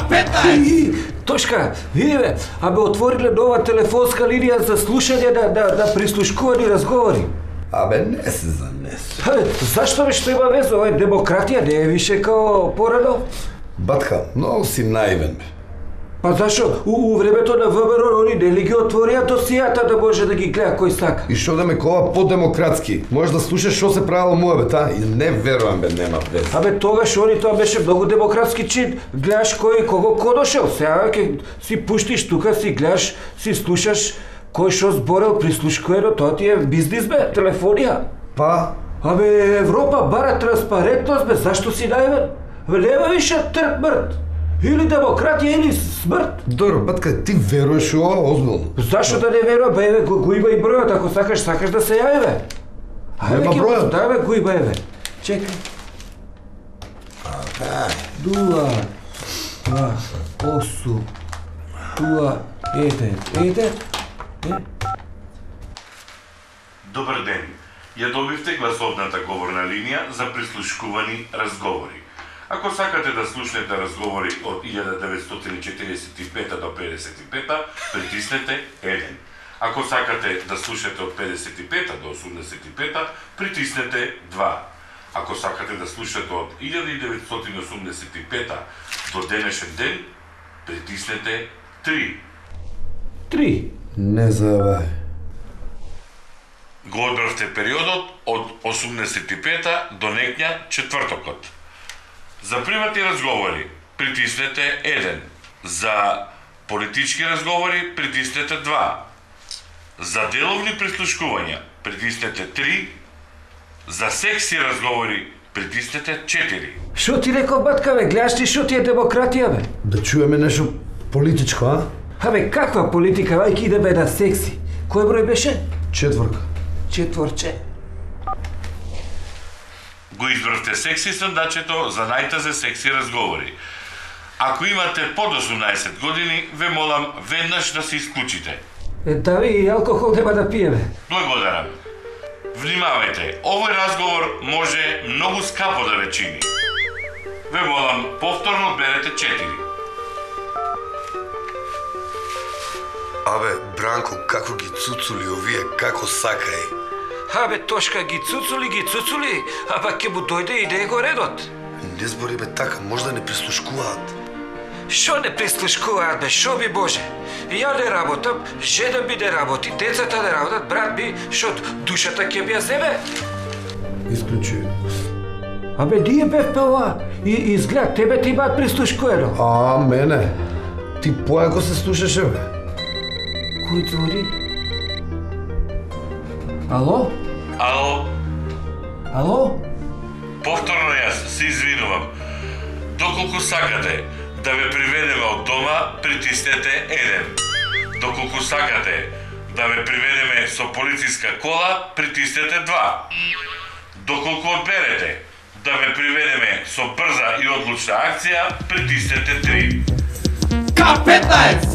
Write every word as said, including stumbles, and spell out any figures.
петнаесет! Тошка, види бе, абе отвориле нова телефонска линија за слушање на, на, на прислушкувани разговори. Абе, не се занесе. Абе, зашто бе што има веза? Овај демократија не е више као порано? Батка, многу си наивен бе. Па зашо? У, у времето на ВМРО они не ли ги отворија досијата да може да ги гледа кој сака? И што да ме кова по-демократски? Можеш да слушаш што се правило муабет, и не верувам бе, нема веза. Абе тогаш они тоа беше многу демократски чин. Гледаш кој кого коношел. Сега ќе си пуштиш тука, си гледаш, си слушаш кој што зборел прислушкувано, тоа ти е бизнис бе, телефонија. Па? Абе Европа бара транспарентност бе, зашто си наивен? Абе нема више трк мрт. Или демократија, или смрт. Добро, батка, ти веруваш у ова озбилно? Зашто да не верувам, бе, еве, го, го има и бројот, ако сакаш, сакаш да се јави, бе. Нема бројот? Да, бе, го има, еве. Чекај. Дуа, два, осум, дуа, еден, еден, е. Добар ден. Ја добивте гласовната говорна линија за прислушкувани разговори. Ако сакате да слушнете разговори од илјада деветстотини четиридесет и пета до педесет и пета, притиснете еден. Ако сакате да слушнете од педесет и пета до осумдесет и пета, притиснете два. Ако сакате да слушнете од илјада деветстотини осумдесет и пета до денешен ден, притиснете три. Три. Не заебај. Го одбравте периодот од осумдесет и пета до некња четвртокот. За приватни разговори притиснете еден. За политички разговори притиснете два. За деловни прислушкувања притиснете три. За секси разговори притиснете четири. Шо ти реков, батка, бе? Гледаш ли шо ти е демократија, бе? Да чуеме нешто политичко, а? Абе, каква политика? Ајки идеме на секси. Кој број беше? Четврка. Четворче. Го избравте секси сондачето за најтазе секси разговори. Ако имате под осумнаесет години, ве молам веднаш да се исклучите. Е, да ви и алкохол нема да пиеме. Благодарам. Внимавајте, овој разговор може многу скапо да ве чини. Ве молам, повторно одберете четири. Абе, Бранко, како ги цуцули овие, како сакај. Абе, Тошка, ги цуцули, ги цуцули, а пак ќе му дојде и него редот. Не збори бе така, можда не прислушкуваат. Шо не прислушкуваат, бе, шо би Боже? Ја не работам, жена ми не работи, децата не работат, брат ми, шо душата ќе ми ја земе? Исклучи. Абе, ние бевме ова, и изглед, тебе ти имаат прислушкувано. А, мене? Ти појако се слушаше, бе? Кој звори? Ало? Ало, Ало? повторно јас се извинувам. Доколку сакате да ве приведеме од дома, притиснете еден. Доколку сакате да ве приведеме со полициска кола, притиснете два. Доколку одберете да ве приведеме со брза и одлучна акција, притиснете три. К петнаесет!